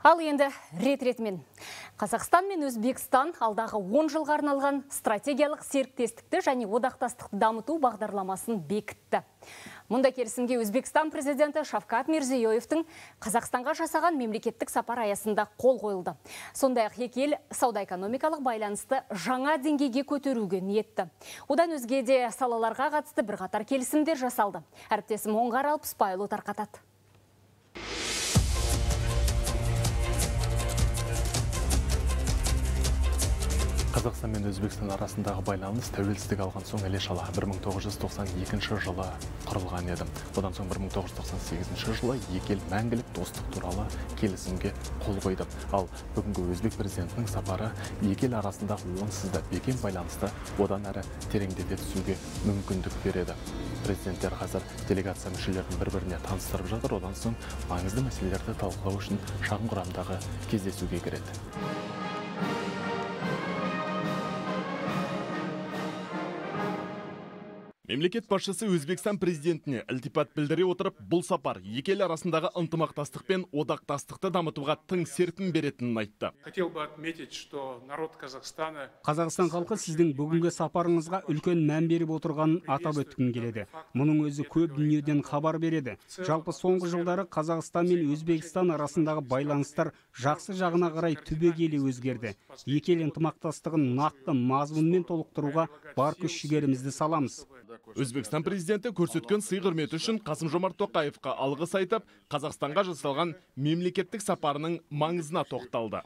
Ал енді рет-ретімен. Қазақстан мен Өзбекстан алдағы 10 жылға арналған стратегиялық серіктестікті және одақтастықты дамыту бағдарламасын бекітті. Мұнда келісімге Өзбекстан президенті Шавкат Мирзиёевтің Қазақстанға жасаған мемлекеттік сапар аясында қол қойылды. Сондай-ақ екі ел сауда-экономикалық байланысты жаңа деңгейге көтеруге ниетті. Одан өзге де салаларға қатысты бірқатар келісімдер жасалды. Әріптесім Оңғар Алпысбайұлы тарқатады. Қазақстан мен Өзбекстан арасындағы байланыс тәуелсіздік алған соң іле-шала 1992 жылы құрылған еді. Одан соң 1998 жылы екі ел мәңгілік достық туралы келісімге қол қойды. Ал бүгінгі Өзбек президентінің сапары екі ел арасындағы онсыз да бекем байланысты одан әрі тереңдете түсуге мүмкіндік береді. Президенттер қазір делегация мүшелерін бір-біріне таныстырып жатыр. Одан соң маңызды мәселелерді талқылау үшін шағын құрамдағы кездесуге кіреді. Мемлекет басшысы Өзбекстан президентіне ілтипат білдіре отырып, бұл сапар екі ел арасындағы ынтымақтастық пен одақтастықты дамытуға тың серпін беретінін айтты. Хотел бы отметить, что народ Казахстана... Қазақстан халқы сіздің бүгінгі сапарыңызға үлкен мән беріп отырғанын атап өткім келеді. Мұның өзі көп дүниеден хабар береді. Жалпы соңғы жылдары Қазақстан мен Өзбекстан арасындағы байланыстар жақсы жағына қарай түбегейлі өзгерді. Екі ел ынтымақтастығын нақты мазмұнмен толықтыруға бар күш-жігерімізді саламыз. Өзбекстан президенті көрсеткен сый-құрметі үшін Қасым-Жомарт Тоқаевқа алғыс айтып, Қазақстанға жасалған мемлекеттік сапарының маңызына тоқталды.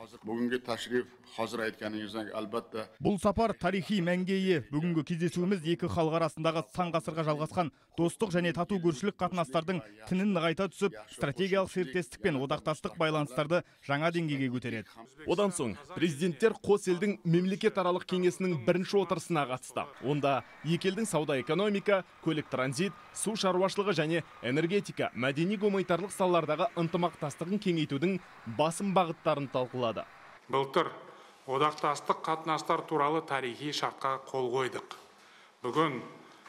Бұл сапар тарихи мәнге ие. Бүгінгі кездесуіміз екі халық арасындағы сан ғасырға жалғасқан достық және тату көршілік қатынастардың тінін нығайта түсіп, стратегиялық серіктестік пен одақтастық байланыстарды жаңа деңгейге көтереді. Одан соң президенттер қос елдің мемлекетаралық кеңесінің бірінші отырысына қатысты. Онда екі елдің сауда-экономика, көлік транзит, су шаруашылығы және энергетика, мәдени-гуманитарлық салалардағы ынтымақтастығын кеңейтудің басым бағыттарын талқылады. Былтыр одақтастық қатынастар туралы тарихи шартқа қол қойдық. Бүгін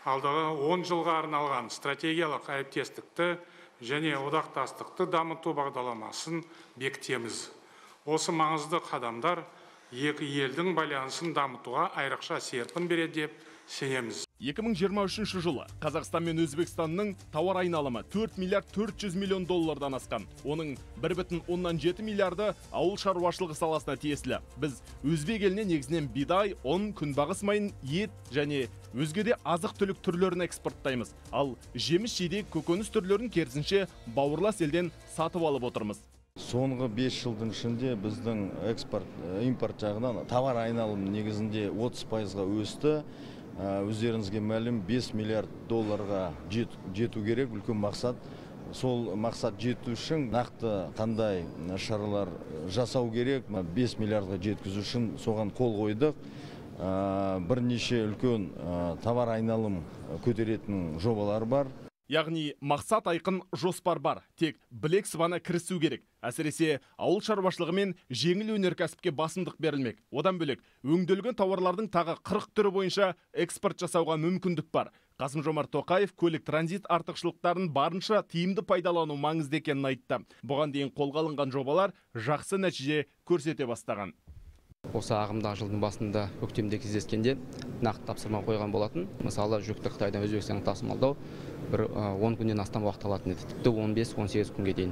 алдағы 10 жылға арналған стратегиялық әріптестікті және одақтастықты дамыту бағдарламасын бекітеміз. Осы маңызды қадамдар екі елдің байланысын дамытуға айрықша серпін береді деп сенеміз. 2023 жылы Қазақстан мен Өзбекстанның тауар айналымы 4 миллиард 400 миллион доллардан асқан. Оның 1,7 миллиарды ауыл шаруашылығы саласына тиесілі. Біз Өзбек еліне негізінен бидай, ұн, күнбағыс майын, ет және өзге де азық-түлік түрлерін экспорттаймыз. Ал жеміс-жидек, көкөніс түрлерін керісінше бауырлас елден сатып алып отырмыз. Соңғы 5 жылдың ішінде біздің импорт жағынан товар айналымы негізінде 30%-ға өсті. Өздеріңізге мәлім 5 миллиард долларға жету керек, үлкен мақсат. Сол мақсат жету үшін нақты қандай шаралар жасау керек, 5 миллиардға жеткізу үшін соған қол қойдық. Бірнеше үлкен товар айналым көтеретін жобалар бар. Яғни мақсат айқын, жоспар бар. Тек білек сыбана кірісу керек. Әсіресе ауыл шаруашылығы мен жеңіл өнеркәсіпке басымдық берілмек. Одан бөлек өңделген тауарлардың тағы 40 түрі бойынша экспорт жасауға мүмкіндік бар. Қасым-Жомарт Тоқаев көлік транзит артықшылықтарын барынша тиімді пайдалану маңызды екенін айтты. Бұған дейін қолға алынған жобалар жақсы нәтиже көрсете бастаған. Осы ағымдағы жылдың басында көктемде кездескенде нақты тапсырма қойған болатын. Мысалы, жүкті Қытайдан Өзбекстанға тасымалдау 10 күннен астам уақыт алатын еді, тіпті 15-18 күнге дейін.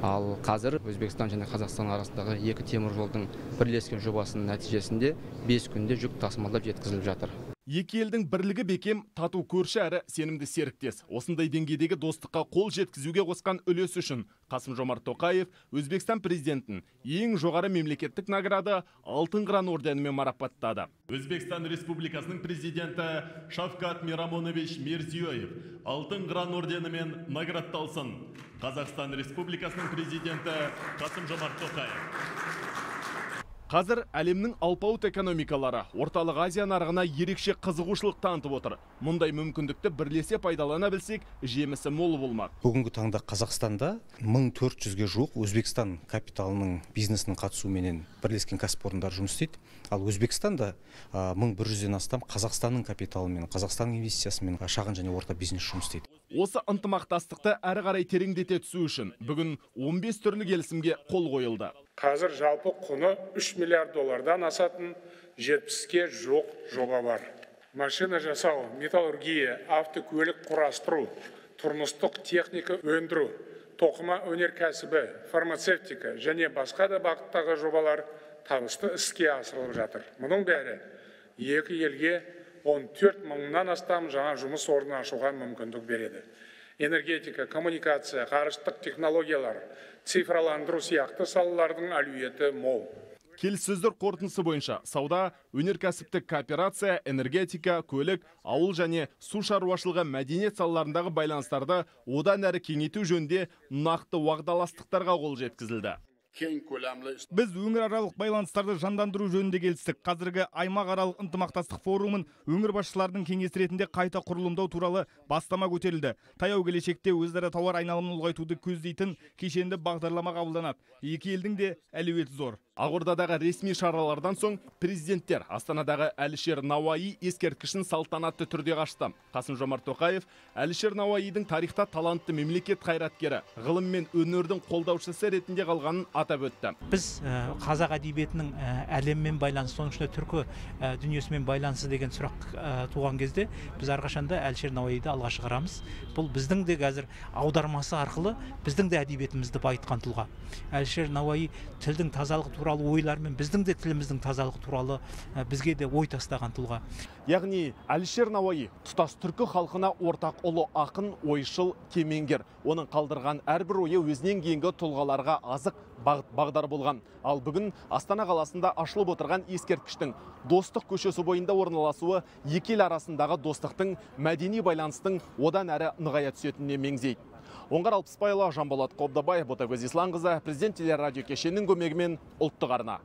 Ал қазір Өзбекстан және Қазақстан арасындағы екі темір жолдың бірлескен жобасының нәтижесінде 5 күнде жүк тасымалдап жеткізіліп жатыр. Екі елдің бірлігі бекем, тату көрші әрі сенімді серіктес. Осындай деңгейдегі достыққа қол жеткізуге қосқан үлесі үшін Қасым-Жомарт Тоқаев Өзбекстан президентін ең жоғары мемлекеттік награды Алтын Қыран орденімен марапаттады. Өзбекстан Республикасының президенті Шавкат Мирамонович Мирзиёев Алтын Қыран орденімен наградталсын. Қазақстан Республикасының президенті Қасым-Жомарт Тоқаев. Қазір әлемнің алпауыт экономикалары орталық Азия нарығына ерекше қызығушылық танытып отыр. Мұндай мүмкіндікті бірлесе пайдалана білсек, жемісі мол болмақ. Бүгінгі таңда Қазақстанда 1400-ге жуық Өзбекстан капиталының бизнесінің қатысуымен бірлескен кәсіпорындар жұмыс істейді. Ал Өзбекстанда 1100-ден астам Қазақстанның капиталымен, Қазақстанның инвестициясымен шағын және орта бизнес жұмыс істейді. Осы ынтымақтастықты әрі қарай тереңдете түсу үшін бүгін 15 түрлі келісімге қол қойылды. Қазір жалпы құны 3 миллиард доллардан асатын 70-ке жоқ жоба бар. Машина жасау, металлургия, автокөлік құрастыру, тұрмыстық техника өндіру, тоқыма өнеркәсібі, фармацевтика және басқа да бағыттағы жобалар табысты іске асырылып жатыр. Мұның бәрі екі елге 14 мыңнан астам жаңа жұмыс орнын ашуға мүмкіндік береді. Энергетика, коммуникация, ғарыштық технологиялар, цифрландыру сияқты салалардың әлеуеті мол. Келіссөздер қорытындысы бойынша сауда, өнеркәсіптік кооперация, энергетика, көлік, ауыл және су шаруашылығы мәдениет салаларындағы байланыстарды одан әрі кеңейту жөнінде нақты уағдаластықтарға қол жеткізілді. Біз өңіраралық байланыстарды жандандыру жөнінде келістік. Қазіргі аймақаралық ынтымақтастық форумын өңір басшыларының кеңесі ретінде қайта құрылымдау туралы бастама көтерілді. Таяу келешекте өзара тауар айналымын ұлғайтуды көздейтін кешенді бағдарлама қабылданады. Екі елдің де әлеуеті зор. Ақордадағы ресми шаралардан соң президенттер Астанадағы Әлішер Науаи ескерткішін салтанатты түрде қашты. Қасым-Жомарт Тоқаев Әлішер Науаидің тарихта талантты мемлекет қайраткері, ғылым мен өнердің қолдаушысы ретінде қалғанын атап өтті. Біз қазақ әдебиетінің әлеммен байланысы, соның ішінде түркі дүниесімен байланысы деген сұрақ туған кезде біз әрқашанда Әлішер Науаиді алға шығарамыз. Бұл біздің де қазір аудармасы арқылы біздің де әдебиетімізді байытқан тұлға. Әлішер Науаи тілдің тазалығы туралы ойлармен біздің де тіліміздің тазалығы туралы бізге де ой тастаған тұлға. Яғни Әлішер Науаи тұтас түркі халқына ортақ ұлы ақын, ойшыл, кемеңгер. Оның қалдырған әрбір ойы өзінен кейінгі тұлғаларға азық бағдар болған. Ал бүгін Астана қаласында ашылып отырған ескерткіштің Достық көшесі бойында орналасуы екі ел арасындағы достықтың, мәдени байланыстың одан әрі нығая түсетініне меңзейді. Оңғар Алпысбайұлы, Жанболат Қобдабай, Ботагөз Исланқызы, Президент телерадио кешенінің көмегімен ұлттық арна.